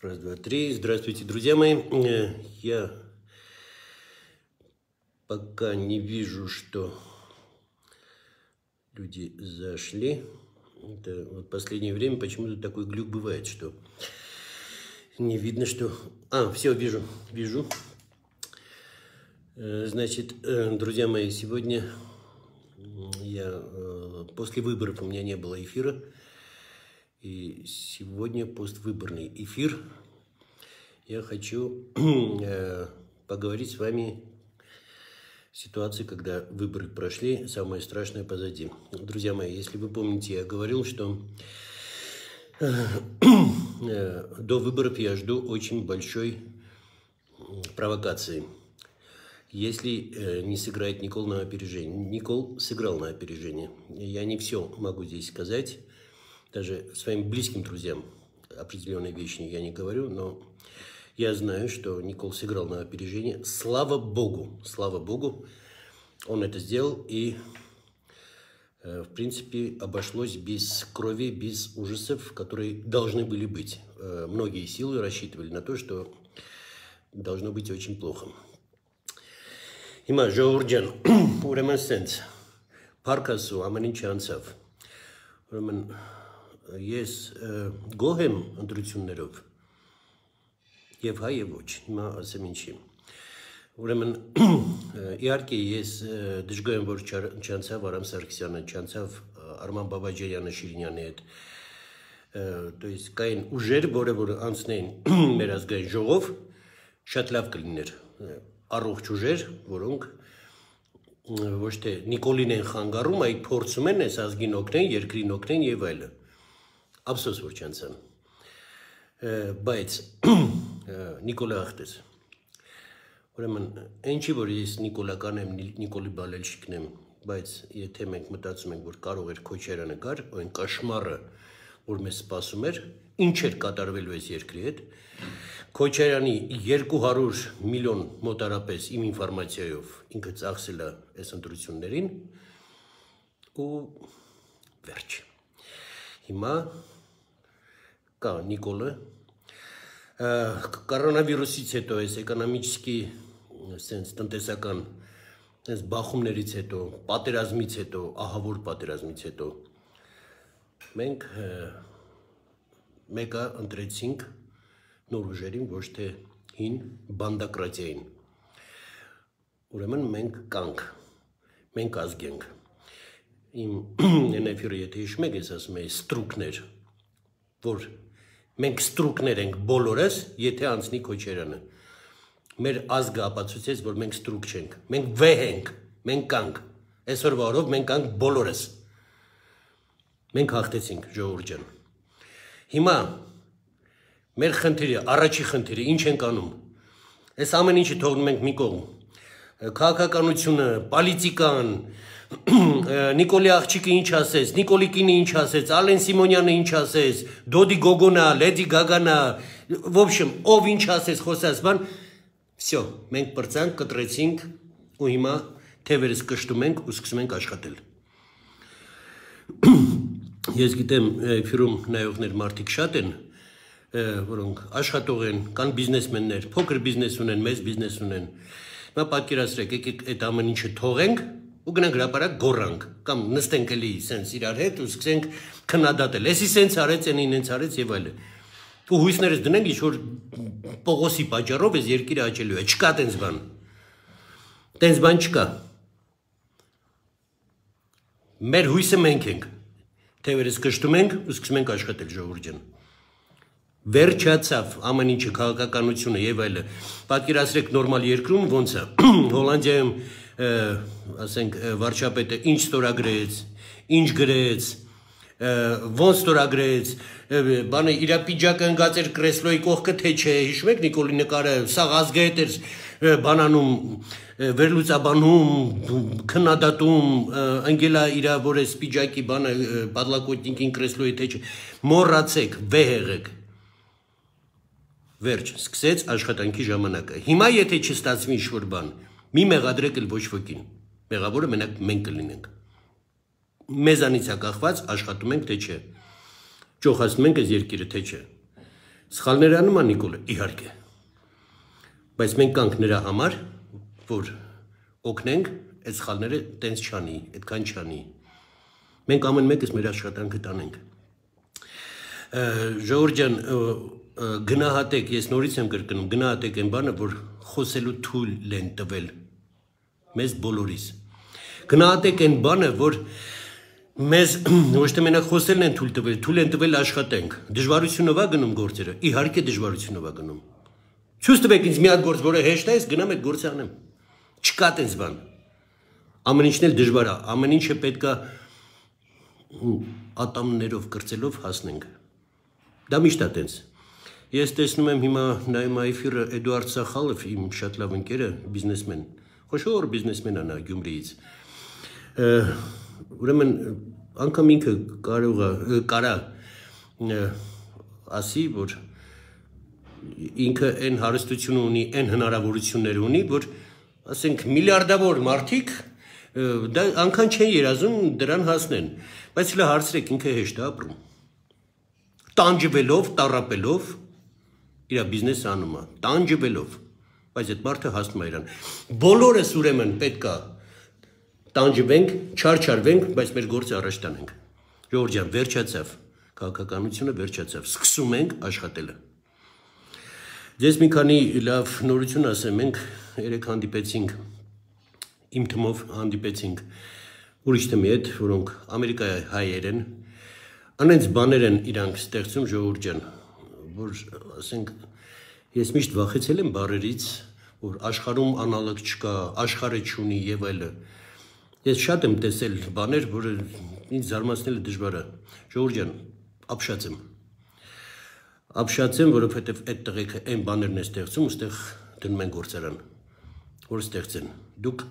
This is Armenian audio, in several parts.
Раз, два, три. Здравствуйте, друзья мои. Я пока не вижу, что люди зашли. Это вот в последнее время почему-то такой глюк бывает, что не видно, что... все, вижу. Значит, друзья мои, сегодня после выборов у меня не было эфира. И сегодня поствыборный эфир. Я хочу поговорить с вами о ситуации, когда выборы прошли, самое страшное позади. Друзья мои, если вы помните, я говорил, что до выборов я жду очень большой провокации. Если не сыграет Никол на опережение. Никол сыграл на опережение. Я не все могу здесь сказать. Даже своим близким друзьям определенные вещи я не говорю, но я знаю, что Никол сыграл на опережение. Слава Богу, он это сделал, и, в принципе, обошлось без крови, без ужасов, которые должны были быть. Многие силы рассчитывали на то, что должно быть очень плохо. Հիմա ժողովուրդ ուրեմն սենց Փարքասու ամեն ինչ անցավ։ Ուրեմն ես գոհ եմ ընտրություններով եւ հայ եւ ոչ, հիմա ասեմ ինչի։ Ուրեմն իհարկե ես դժգոհ եմ, որ չանցավ Արամ Սարգսյանը, չանցավ Արման Բաբաջանյանը Շիրինյանի հետ։ То есть կային ուժեր, որը անցնեին մեր ազգային ժողով, շատ լավ կլիներ։ Առողջ ուժեր, որոնք ոչ թե Նիկոլին են խանգարում, այլ փորձում են այս ազգին օգնեն, երկրին օգնեն եւ այլը։ Ափսոս որ չանցան։ Բայց Նիկոլը ախտեց։ Ուրեմն ինչի որ ես նիկոլական եմ, Նիկոլի բալելշիկն եմ, բայց եթե մենք մտածում ենք, որ կարող էր Քոչարյանը գար, այն կաշմարը, որ մեզ սպասում էր, ինչ էր կատարվելու այս երկրի հետ, Քոչարյանի 200 միլիոն մոտարապես իմ ինֆորմացիայով ինքը ծախսել է այս ընտրություններին ու վերջ։ Հիմա կա Նիկոլը կորոնավիրուսից հետո այս էկոնոմիկի սենց տնտեսական այս բախումներից հետո, պատերազմից հետո, ահավոր պատերազմից հետո մենք մեկը ընտրեցինք նոր ուժերին, ոչ թե հին բանդակրատիային։ Ուրեմն մենք կանք, մենք ազգ ենք։ Իմ էնեֆիրը եթե հիշում եք, ես ասում եի ստրուկներ, որ մենք ստրուկներ ենք բոլորս, եթե անցնի Քոչարյանը։ Մեր ազգը ապացուցեց, որ մենք ստրուկ չենք, մենք վեհ ենք, մենք կանք, այսօրվա օրով մենք կանք բոլորս։ Մենք հաղթեցինք, ժողովուրդ ջան։ Հիմա մեր խնդիրը, առաջի խնդիրը, ինչ ենք անում։ Այս ամեն ինչը թողնում ենք մի կողմ։ Քաղաքականությունը, պոլիտիկան, Նիկոլի աղջիկը ինչ ասեց, Նիկոլի կինը ինչ ասեց, Ալեն Սիմոնյանը ինչ ասեց, Դոդի Գոգոնա, Լեդի Գագանա, в общем, ով ինչ ասեց, խոսած բան, всё, մենք բրցանք, կտրեցինք ու հիմա թևերս կշտում ենք ու սկսում ենք աշխատել։ Ես գիտեմ, ֆիրում նայողներ մարդիկ շատ են, որոնք աշխատող են, կան բիզնեսմեններ, փոքր բիզնես ունեն, մեծ բիզնես ունեն։ Հիմա պատկերացրեք, եկեք այդ ամեն ինչը թողենք ու գնանք հրապարակ գոռանք, կամ նստենք էլի սենց իրար հետ ու սկսենք քննադատել։ Էսի սենց արեց, այնին հենց արեց եւ այլն։ Ու հույսներս դնենք ինչ-որ Պողոսի պատճառով այս երկիրը աճելու է։ Չկա տենց բան։ Տենց բան չկա։ Մեր հույսը մենք ենք։ Թևերս կշտում ենք ու սկսում ենք աշխատել, ժողովուրդ ջան։ Վերջացավ ամեն ինչը քաղաքականությունը եւ այլը։ Պատկերացրեք նորմալ երկրում ոնց է։ Հոլանդիայում ասենք վարչապետը ինչ ստորագրեց, ինչ գրեց, ոնց ստորագրեց, բանը իր պիջակը ընկած էր կրեսլոյի կողքը թե չէ, հիշում եք Նիկոլի նկարը, սա ազգայետ էր բանանում, վերլուծաբանում, քննադատում, ընկելա իր որ էս պիջակի բանը պատլակոտնիկին կրեսլոյի թե չէ, մոռացեք, վեհ եղեք։ Վերջ, սկսեց աշխատանքի ժամանակը։ Հիմա եթե չստացվի ինչ-որ բան, մի մեղադրեք էլ ոչ ոքին։ Մեղավորը մենակ մենք կլինենք։ Մեզանից է կախված աշխատում ենք թե չէ։ ճոխացնում ենք այս երկիրը, թե չէ։ Սխալներ անում է Նիկոլը, իհարկե։ Բայց մենք կանք նրա համար, որ օգնենք այդ սխալները տենց չանի, այդքան չանի։ Մենք ամեն մեկս մեր աշխատանքը տանենք։ Ժողովուրդ ջան, գնահատեք, ես նորից եմ կրկնում, գնահատեք այն բանը, որ խոսելու թույլ են տվել մեզ բոլորիս։ Գնահատեք այն բանը, որ մեզ ոչ թե մենակ խոսելն են թույլ են տվել աշխատենք։ Դժվարությունով է գնում գործերը, իհարկե դժվարությունով է գնում։ Ցույց տվեք ինձ մի հատ գործ, որը հեշտ է, ես գնամ այդ գործը անեմ։ Չկա տենց բան։ Ամեն ինչն էլ դժվար է, ամեն ինչը պետք է ատամներով կրծելով հասնենք։ Դա միշտ է տենց։ Ես տեսնում եմ հիմա նայում այֆիրը Էդուարդ Սախալով, իմ շատ լավ ընկերը, բիզնեսմեն, խոշոր բիզնեսմեն է նա Գյումրիից։ Ուրեմն անգամ ինքը կարա ասի, որ ինքը այն հարստությունը ունի, այն հնարավորություններ ունի, որ ասենք միլիարդավոր մարդիկ դա անգամ չեն երազում դրան հասնեն, բայց հլը հարցրեք ինքը հեշտ է ապրում։ Տանջվելով, տառապելով իր բիզնեսը անում է, տանջվելով, բայց այդ մարդը հասնում է իրան։ Բոլորս ուրեմն պետք է տանջվենք, չարչարվենք, բայց մեր գործը առաջ տանենք։ Ժողովուրդ ջան, վերջացավ, քաղաքականությունը վերջացավ, սկսում ենք աշխատելը։ Ես մի քանի լավ նորություն ասեմ, մենք երեք հանդիպեցինք, իմ թմով հանդիպեցինք ուրիշ թմի հետ, որոնք Ամերիկայի հայեր են, անենց բաներ են իրանք ստեղծում, ժողովուրդ ջան, որ ասենք, ես միշտ վախեցել եմ բառերից, որ աշխարհում անալոգ չկա, աշխարհը չունի եւ այլը։ Ես շատ եմ տեսել բաներ, որը ինձ զարմացնելը դժվար է։ Ժողովուրդ ջան, ապշած եմ, որովհետև այդ տղեկը այն բաներն է ստեղծում, ուստեղ դնում են գործարան, որ ստեղծեն։ Դուք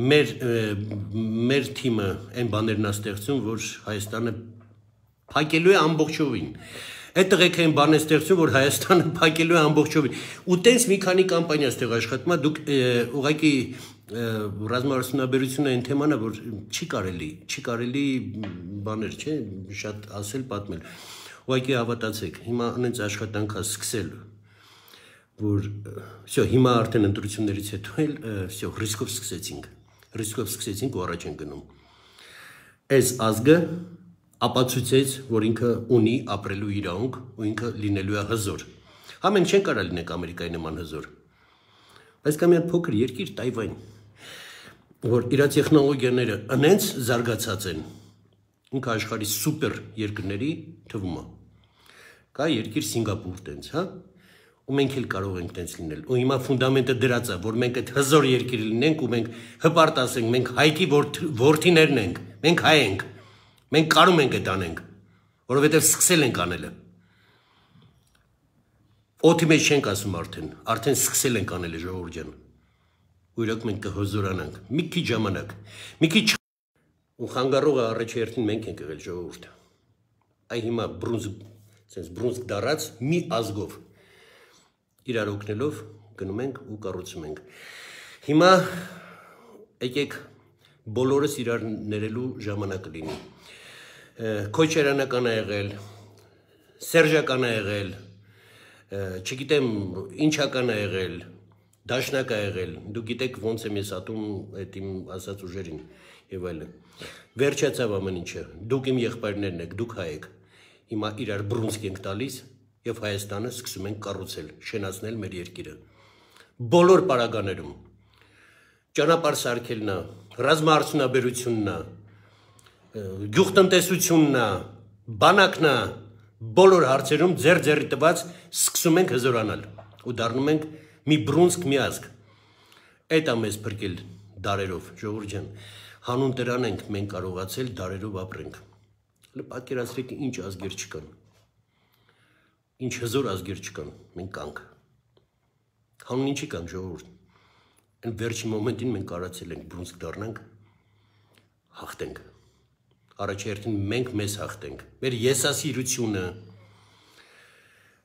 մեր թիմը այն բաներն է ստեղծում, որ Հայաստանը փակելու է ամբողջովին։ Այդ տղեկը այն բան է ստեղծում, որ Հայաստանը փակելու է ամբողջովին։ Ու տենց մի քանի կամպանիա ստեղ աշխատում է, դուք ուղղակի ռազմարդյունաբերությունը այն թեման է, որ չի կարելի բաներ, չէ, շատ ասել, պատմել։ Ուղղակի հավատացեք, հիմա անենց աշխատանքա սկսել, որ հիմա արդեն ընտրություններից հետո էլ ռիսկով սկսեցինք ու առաջ են գնում։ Այս ազգը ապացուցեց, որ ինքը ունի ապրելու իրավունք ու ինքը լինելու է հզոր։ Հա մենք չեն կարա լինենք Ամերիկայի նման հզոր։ Բայց կա մի հատ փոքր երկիր Տայվան, որ իր տեխնոլոգիաները անենց զարգացած են, ինքը աշխարհի սուպեր երկրների թվում է։ Կա երկիր Սինգապուր տենց, հա, ու մենք էլ կարող ենք տենց լինել։ Ու հիմա ֆունդամենտը դրած է, որ մենք այդ հզոր երկիր լինենք ու մենք հպարտ ասենք, մենք հայքի որդիներն ենք, մենք հայ ենք, մենք կարում ենք այդ անենք, որովհետև սկսել ենք անելը։ Օդի մեջ չենք ասում արդեն սկսել ենք անելը, ժողովուրդ ջան։ Ու իրոք մենք կհզորանանք, մի քիչ ժամանակ, մի քիչ ու խանգարողը առաջերտին մենք ենք եղել, ժողովուրդ։ Այ հիմա բրունզկ դարած մի ազգով իրար օգնելով գնում ենք ու կառուցում ենք։ Հիմա եկեք բոլորս իրար ներելու ժամանակը լինի։ Քոչարյանական է եղել, Սերժական է եղել, չգիտեմ ինչական է եղել, դաշնակ է եղել, դու գիտեք ոնց եմ ես ատում այդ իմ ասած ուժերին եւ այլն։ Վերջացավ ամեն ինչը, դուք իմ եղբայրներն եք, դուք հայ եք։ Հիմա իրար բրունսկ ենք տալիս եւ Հայաստանը սկսում ենք կառուցել, շենացնել մեր երկիրը։ Բոլոր պարագաներում ճանապարհ սարքելն է, ռազմաարդյունաբերությունն է, գյուղտնտեսությունն է, բանակն է, բոլոր հարցերում ձեռի տված սկսում ենք հզորանալ ու դառնում ենք մի բրունսկ մի ազգ։ Այդ է մեզ փրկել դարերով, ժողովուրդ ջան, հանուն դրան ենք մենք կարողացել դարերով ապրենք։ Պատկերացրեք ինչ ազգեր չկան, ինչ հզոր ազգեր չկան, մենք կանք։ Հանուն ինչի կանք, ժողովուրդ։ Այն վերջին մոմենտին մենք կարացել ենք բրունսկ դառնանք, հաղթենք։ Առաջերտին մենք մեզ հաղթենք, մեր եսասիրությունը։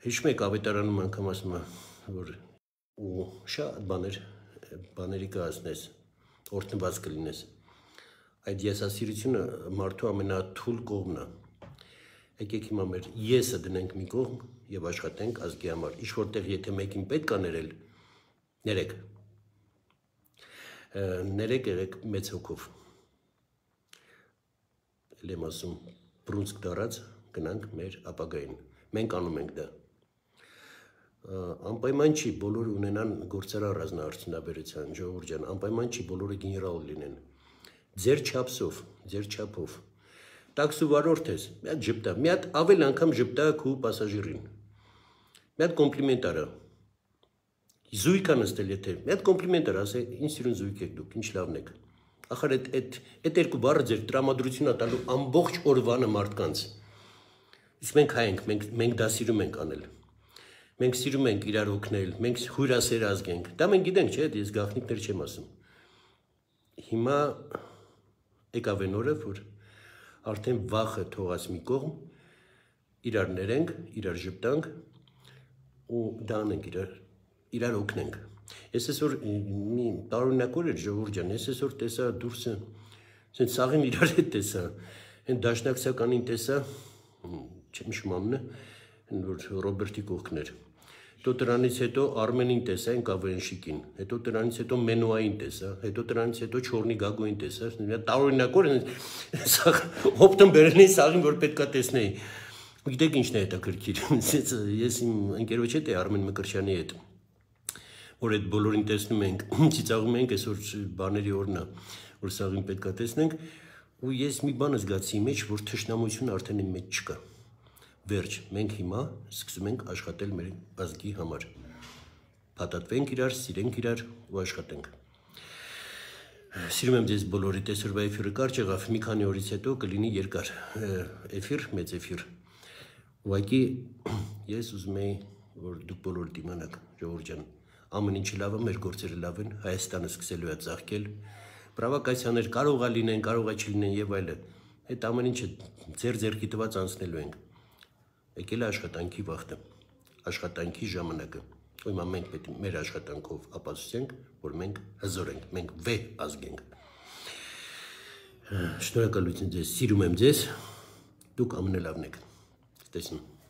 Հիշում եք ավետարանում անգամ ասում է, որ ու շատ բաների կհասնես, օրհնված կլինես։ Այդ եսասիրությունը մարդու ամենաթույլ կողմն է։ Եկեք հիմա մեր եսը դնենք մի կողմ եւ աշխատենք ազգի համար։ Ինչ որտեղ եթե մեկին պետք է ներեք եղեք մեծ հոգով։ Էլ եմ ասում, բռունցք դարած գնանք մեր ապագային։ Մենք անում ենք դա։ Անպայման չի բոլորը ունենան գործարար ռազմաարդյունաբերության, ժողովուրդ ջան, անպայման չի բոլորը գեներալ լինեն։ Ձեր չափով։ Տաքսու վարորդ ես, մի հատ ժպտա, մի հատ ավել անգամ ժպտա քու պասաժիրին։ Մի հատ կոմպլիմենտ արա։ Զույգ ա նստել եթե, մի հատ կոմպլիմենտ արա, ասե, ինչ սիրուն զույգ եք դուք, ինչ լավն եք։ Ախր այդ երկու բառը ձեր տրամադրությունն ա տալու ամբողջ օրվանը մարդկանց։ Իսկ մենք հայ ենք, մենք դա սիրում ենք անել։ Մենք սիրում ենք իրար օգնել, մենք հյուրասեր ազգ ենք։ Դա մենք գիտենք, չէ՞, ես գաղտնիքներ չեմ ասում։ Հիմա եկավ այն օրը, որ արդեն վախը թողած մի կողմ, իրար ներենք, իրար ժպտանք ու դա անենք, իրար օգնենք։ Ես այսօր մի տարօրինակ օր էր ժողովուրդ ջան, ես այսօր տեսա դուրսը, ասեն սաղին իրար հետ տեսա, այն դաշնակցականին տեսա, չեմ հիշում անունը, որ Ռոբերտի կողքն էր։ Հետո դրանից հետո Արմենին տեսա, այն Կավենշիկին, հետո դրանից հետո Մենուային տեսա, հետո դրանից հետո Չորնի Գագոին տեսա, տարօրինակ օր հոպտում բերել էի սաղին, որ պետքա տեսնեի։ Գիտեք ինչն է հետաքրքիր, ես իմ ընկերոջ հետ էի Արմեն Մկրտչյանի հետ, որ այդ բոլորին տեսնում ենք, ծիծաղում ենք, այսօր բաների օրն է, որ սաղին պետքա տեսնենք, ու ես մի բան զգացի մեջ, որ թշնամություն արդեն իմ մեջ չկա։ Վերջ, մենք հիմա սկսում ենք աշխատել մեր ազգի համար։ Փաթաթվենք իրար, սիրենք իրար ու աշխատենք։ Սիրում եմ ձեզ բոլորիդ, այսօրվա էֆիրը կարճ եղավ, մի քանի օրից հետո կլինի երկար էֆիր, մեծ էֆիր։ Ուղղակի ես ուզում եի, որ դուք բոլորդ իմանաք, ժողովուրդ ջան, ամեն ինչը լավ է, մեր գործերը լավ են, Հայաստանը սկսելու է ծաղկել, պրովոկացիաներ կարող է լինեն, կարող է չլինեն եւ այլն։ Այդ ամեն ինչը ձեր տված անցնելու ենք։ Եկել է աշխատանքի վաղտը, աշխատանքի ժամանակը։ Հիմա մենք պետք է մեր աշխատանքով ապացուցենք, որ մենք հզոր ենք, մենք վեհ ազգ ենք։ Շնորհակալություն ձեզ, սիրում եմ ձեզ, դուք ամենալավն եք։ Տեսնում։